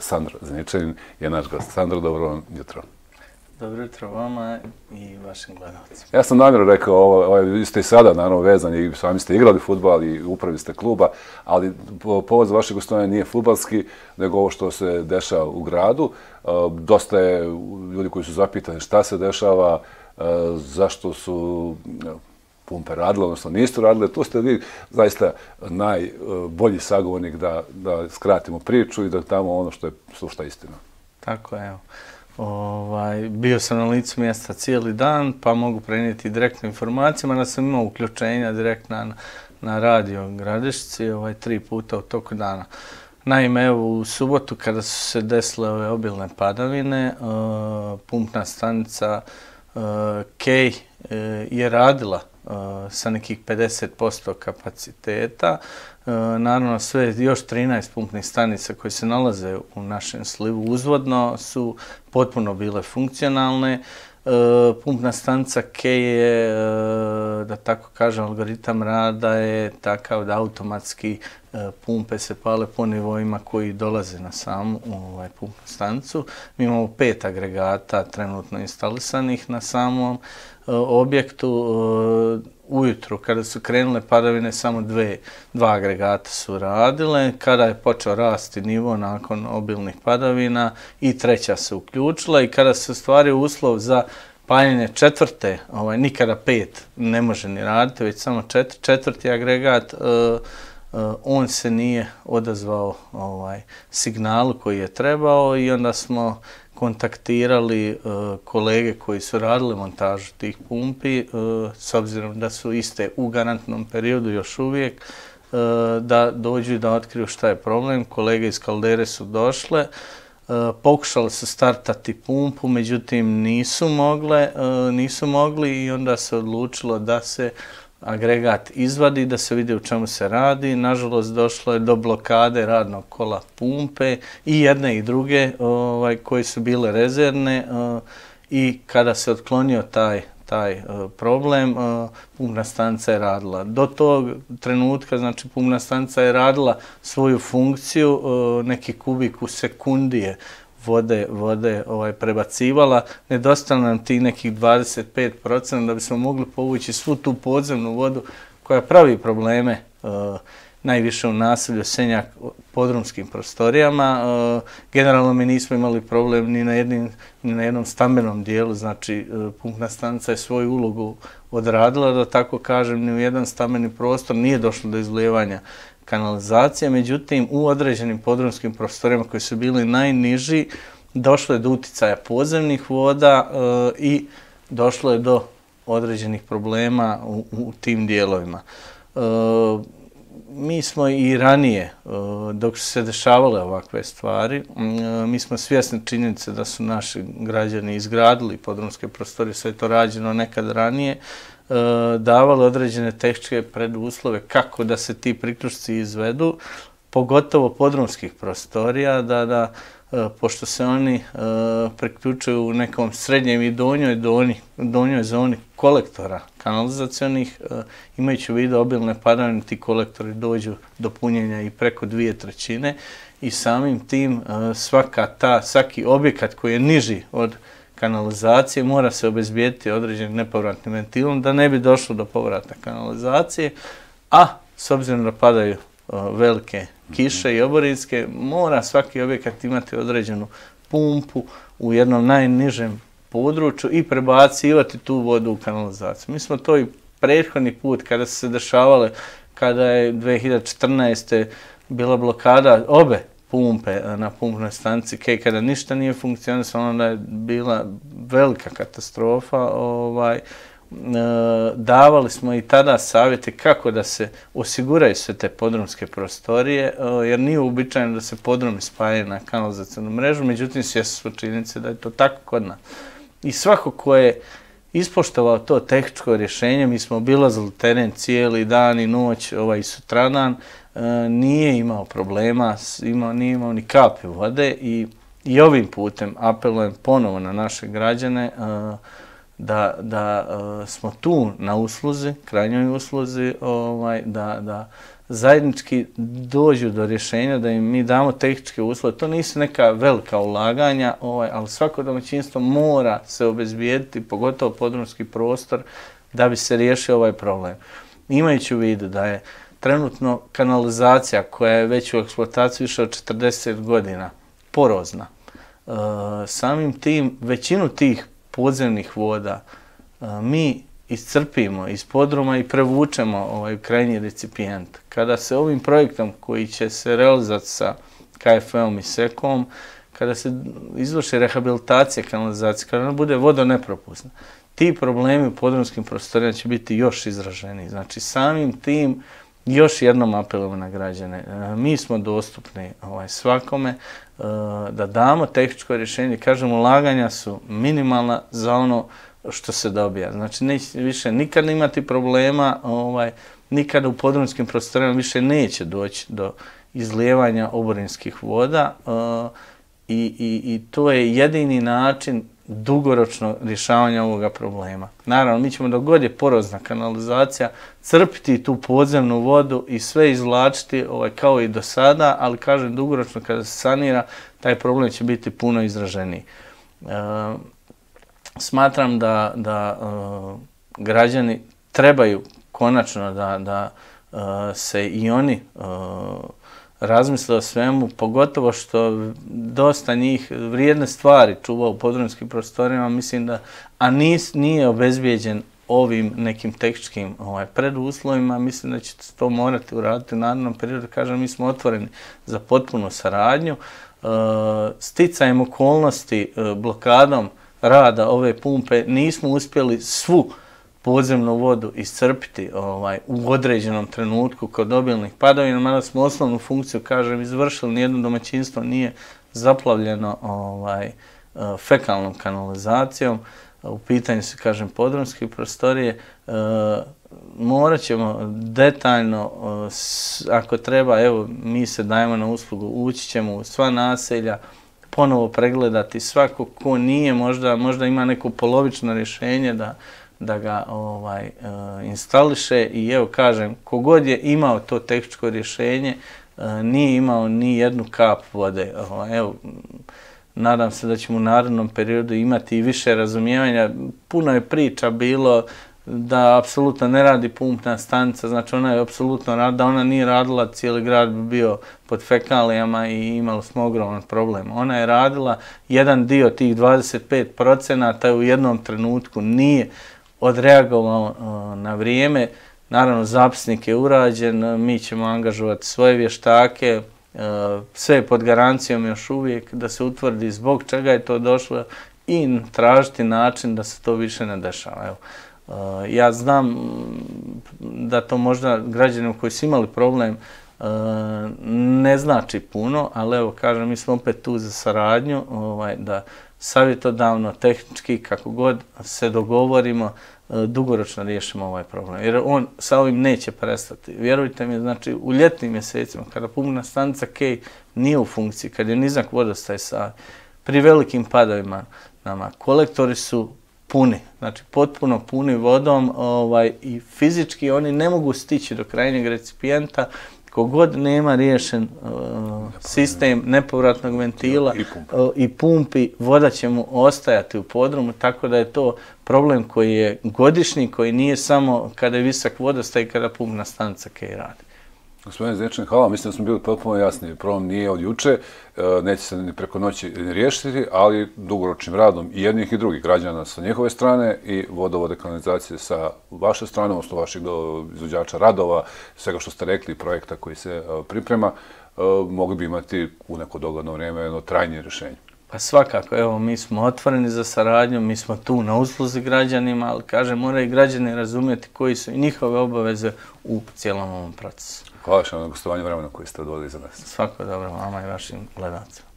Sandro Zeničanin je naš gost. Sandro, dobro vam jutro. Dobro jutro vama i vašim gledalcima. Ja sam namjerno rekao, vi ste i sada naravno vezani, sami ste igrali fudbal i upravi ste kluba, ali povod za vaše gostovanje nije fudbalski, nego ovo što se dešava u gradu. Dosta je ljudi koji su zapitani šta se dešava, zašto su pumpe radile, odnosno nisu radile. Tu ste vi zaista najbolji sagovornik da skratimo priču i da tamo ono što je sušta istina. Tako je, evo. Bio sam na licu mjesta cijeli dan, pa mogu prenijeti direktne informacije, mada sam imao uključenja direktna na radio Gradišci 3 puta u toku dana. Naime, evo u subotu kada su se desile ove obilne padavine, pumpna stanica Kej je radila sa nekih 50% kapaciteta. Naravno, sve još 13 pumpnih stanica koje se nalaze u našem slivu uzvodno su potpuno bile funkcionalne. Pumpna stanica Kej je, da tako kažem, algoritam rada je takav da automatski pumpe se pale po nivoima koji dolaze na samu pumpnu stanicu. Mi imamo 5 agregata trenutno instalisanih na samom objektu. Ujutru, kada su krenule padavine, samo 2 agregata su radile. Kada je počeo rasti nivo nakon obilnih padavina i 3. se uključila i kada se ostvario uslov za paljenje 4. Nikada 5 ne može ni raditi, već samo 4. agregat, on se nije odazvao signalu koji je trebao i onda smo kontaktirali kolege koji su radili montažu tih pumpi, s obzirom da su iste u garantnom periodu još uvijek, da dođu i da otkriju šta je problem. Kolege iz Kaldere su došle, pokušali su startati pumpu, međutim nisu mogli i onda se odlučilo da se agregat izvadi, da se vidi u čemu se radi. Nažalost, došlo je do blokade radnog kola pumpe i jedne i druge koje su bile rezervne i kada se otklonio taj problem, pumpna stanica je radila. Do tog trenutka, znači, pumpna stanica je radila svoju funkciju, neki kubik u sekundi je vode prebacivala. Nedostalo nam ti nekih 25% da bismo mogli povući svu tu podzemnu vodu koja pravi probleme najviše u naselju Senjak podrumskim prostorijama. Generalno mi nismo imali problem ni na jednom stambenom dijelu, znači pumpna stanica je svoju ulogu odradila, da tako kažem, ni u jedan stambeni prostor nije došlo do izlijevanja kanalizacije, međutim u određenim podrumskim prostorijama koji su bili najniži došlo je do uticaja podzemnih voda i došlo je do određenih problema u tim dijelovima. Mi smo i ranije, dok su se dešavale ovakve stvari, mi smo svjesni činjenice da su naši građani izgradili podrumske prostorije, sve je to rađeno nekad ranije, davali određene tehničke preduslove kako da se ti priključci izvedu, pogotovo podrumskih prostorija, pošto se oni priključuju u nekom srednjem i donjoj zoni kolektora kanalizacionih, imajući u vidu obilne padavine, ti kolektori dođu do punjenja i preko 2/3 i samim tim svaki objekat koji je niži od kanalizacije mora se obezbijediti određenim nepovratnim ventilom da ne bi došlo do povrata kanalizacije, a s obzirom da padaju velike kiše i oborinske, mora svaki objekat imati određenu pumpu u jednom najnižem području i prebacivati tu vodu u kanalizaciju. Mi smo to i prethodni put kada su se dešavale, kada je 2014. bila blokada obe pumpe na pumpnoj stanici Kej, kada ništa nije funkcionisalo, onda je bila velika katastrofa. Davali smo i tada savjete kako da se osiguraju sve te podrumske prostorije, jer nije uobičajeno da se podrumi spajaju na kanalizacionu mrežu, međutim svjesni smo činjenice da je to tako kod nas. I svako ko je ispoštovao to tehničko rješenje, mi smo obilazili teren cijeli dan i noć, i sutradan, nije imao problema, nije imao ni kapi vode i ovim putem apelujem ponovo na naše građane da smo tu na usluzi, krajnjoj usluzi, da zajednički dođu do rješenja, da im mi damo tehničke uslove. To nisu neka velika ulaganja, ali svako domaćinstvo mora se obezbijediti, pogotovo podrumski prostor, da bi se riješio ovaj problem. Imajući u vidu da je trenutno kanalizacija koja je već u eksploataciji više od 40 godina porozna, samim tim većinu tih podzemnih voda mi iscrpimo iz podruma i prevučemo krajnji recipijent. Kada se ovim projektom koji će se realizati sa KFV-om i SEK-om, kada se izvrši rehabilitacija kanalizacije, kada ona bude vodonepropusna, ti problemi u podrumskim prostorima će biti još izraženiji. Znači, samim tim još jednom apelujemo na građane. Mi smo dostupni svakome da damo tehničko rješenje. Kažem, ulaganja su minimalna za ono što se dobija. Znači, neće više nikad imati problema, nikada u podrumskim prostorima više neće doći do izlijevanja oborinskih voda i to je jedini način dugoročno rješavanja ovoga problema. Naravno, mi ćemo dok god je porozna kanalizacija crpiti tu podzemnu vodu i sve izvlačiti kao i do sada, ali kažem dugoročno kada se sanira, taj problem će biti puno izraženiji. Smatram da građani trebaju konačno da se i oni razmisle o svemu, pogotovo što dosta njih vrijedne stvari čuva u podrumskim prostorima, mislim da, a nije obezbijeđen ovim nekim tehničkim preduslovima, mislim da će to morati uraditi u narednom periodu. Kažem, mi smo otvoreni za potpunu saradnju. Sticajem okolnosti, blokadom rada ove pumpe nismo uspjeli svu podzemnu vodu iscrpiti u određenom trenutku kod obilnih padavina, mada smo osnovnu funkciju, kažem, izvršili, nijedno domaćinstvo nije zaplavljeno fekalnom kanalizacijom. U pitanju su, kažem, podrumske prostorije. Morat ćemo detaljno, ako treba, evo, mi se dajemo na uslugu, ući ćemo u sva naselja, ponovo pregledati svako ko nije, možda ima neko polovično rješenje da ga instališe i evo kažem, kogod je imao to tehničko rješenje, nije imao ni jednu kap vode. Evo, nadam se da ćemo u narednom periodu imati i više razumijevanja. Puno je priča bilo da apsolutno ne radi pumpna stanica, znači ona je apsolutno radila, da ona nije radila, cijeli grad bi bio pod fekalijama i imali smo ogroman problem. Ona je radila, jedan dio tih 25% u jednom trenutku nije odreagovao na vrijeme. Naravno, zapisnik je urađen, mi ćemo angažovati svoje vještake, sve je pod garancijom još uvijek da se utvrdi zbog čega je to došlo i tražiti način da se to više ne dešava. Evo, ja znam da to možda građanima koji su imali problem ne znači puno, ali evo kažem, mi smo opet tu za saradnju, da savjetodavno, tehnički, kako god se dogovorimo, dugoročno riješimo ovaj problem. Jer on sa ovim neće prestati. Vjerujte mi, znači u ljetnim mjesecima, kada pumpna stanica Kej nije u funkciji, kad je nizak vodostaj Save, pri velikim padovima nama, kolektori su puni, znači potpuno puni vodom i fizički oni ne mogu stići do krajnjeg recipijenta. Kogod nema riješen sistem nepovratnog ventila i pumpi, voda će mu ostajati u podrumu, tako da je to problem koji je godišnji, koji nije samo kada je visok vodostaj i kada pumpna stanica Kej radi. Gospodine Zečan, hvala. Mislim da smo bili potpuno jasni. Problem nije od juče, neće se ni preko noći riješiti, ali dugoročnim radom i jednih i drugih građana sa njihove strane i vodovode kanalizacije sa vaše strane, odnosno vaših izvođača radova, svega što ste rekli, projekta koji se priprema, mogli bi imati u neko dogledno vrijeme jedno trajnije rješenje. Pa svakako, evo, mi smo otvoreni za saradnju, mi smo tu na usluzi građanima, ali kažem, moraju i građani razumjeti koji su i njihove obaveze u cijelom ovom procesu. Hvala što na gostovanju vremena koje ste odvojili za nas. Svako dobro vama i vašim gledalcima.